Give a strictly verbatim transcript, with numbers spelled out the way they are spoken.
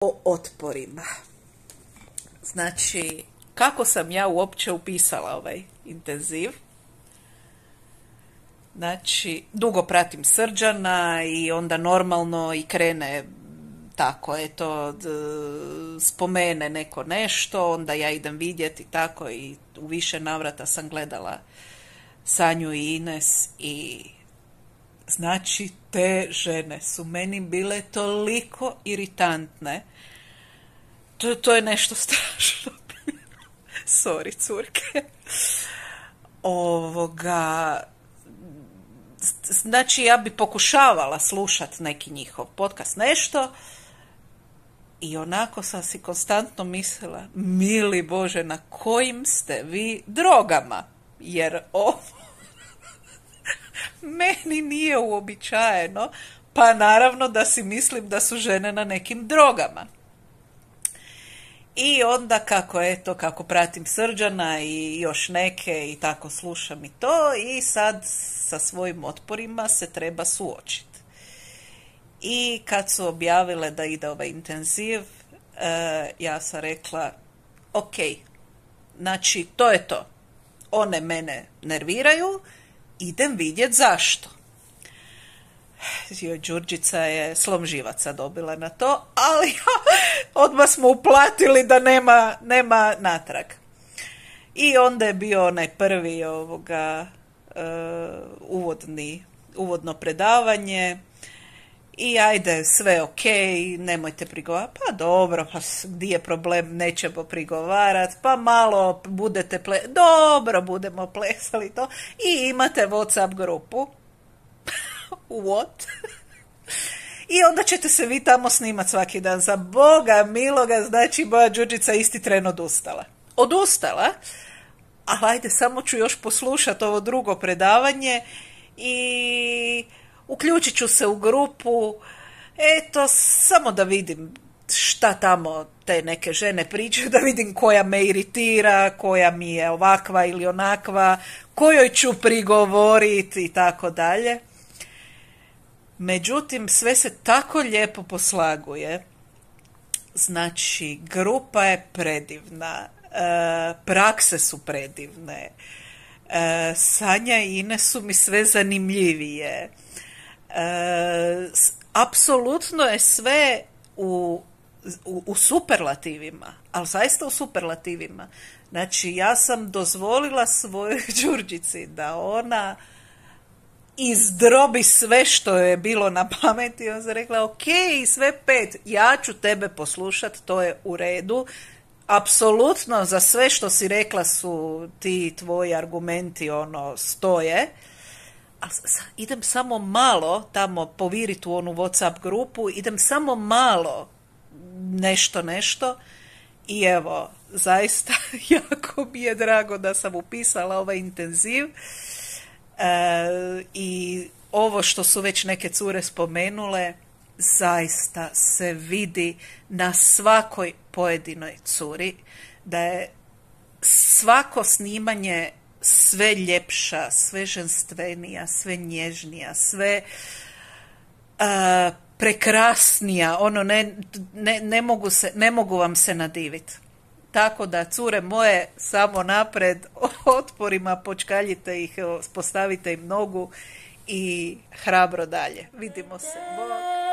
O otporima. Znači, kako sam ja uopće upisala ovaj intenziv? Znači, dugo pratim Srđana i onda normalno i krene tako, eto, d, spomene neko nešto, onda ja idem vidjeti tako i u više navrata sam gledala Sanju i Ines i znači te žene su meni bile toliko iritantne. To, to je nešto strašno. Sorry, curke. Ovoga... Znači, ja bi pokušavala slušat neki njihov podcast, nešto, i onako sam si konstantno mislila, mili Bože, na kojim ste vi drogama? Jer ovo meni nije uobičajeno, pa naravno da si mislim da su žene na nekim drogama. I onda kako eto, kako pratim Srđana i još neke i tako slušam i to, i sad sa svojim otporima se treba suočiti. I kad su objavile da ide ovaj intenziv, e, ja sam rekla, ok, znači to je to. One mene nerviraju, idem vidjet zašto. Joj, Đurđica je slom živaca dobila na to, ali odmah smo uplatili da nema, nema natrag. I onda je bio onaj prvi ovoga uh, uvodni, uvodno predavanje i ajde, sve ok, nemojte prigovarati. Pa dobro, pa gdje je problem, nećemo prigovarati, pa malo budete ple... Dobro, budemo plesali to. I imate WhatsApp grupu. What? I onda ćete se vi tamo snimat svaki dan. Za Boga miloga, znači moja Đurđica isti tren odustala. Odustala, ali ajde, samo ću još poslušati ovo drugo predavanje i uključit ću se u grupu, eto, samo da vidim šta tamo te neke žene pričaju, da vidim koja me iritira, koja mi je ovakva ili onakva, kojoj ću prigovoriti i tako dalje. Međutim, sve se tako lijepo poslaguje. Znači, grupa je predivna, e, prakse su predivne, e, Sanja i Ines su mi sve zanimljivije. E, apsolutno je sve u, u, u superlativima, ali zaista u superlativima. Znači, ja sam dozvolila svojoj Đurđici da ona izdrobi sve što je bilo na pameti. On se rekla, ok, sve pet, ja ću tebe poslušat, to je u redu. Apsolutno za sve što si rekla su ti tvoji argumenti, ono, stoje. A idem samo malo tamo poviriti u onu WhatsApp grupu, idem samo malo nešto, nešto. I evo, zaista jako mi je drago da sam upisala ovaj intenziv. E, i ovo što su već neke cure spomenule, zaista se vidi na svakoj pojedinoj curi da je svako snimanje sve ljepša, sve ženstvenija, sve nježnija, sve uh, prekrasnija, ono ne, ne, ne, mogu se, ne mogu vam se nadiviti. Tako da, cure moje, samo napred, otporima, počkaljite ih, postavite im nogu i hrabro dalje. Vidimo se. Bog.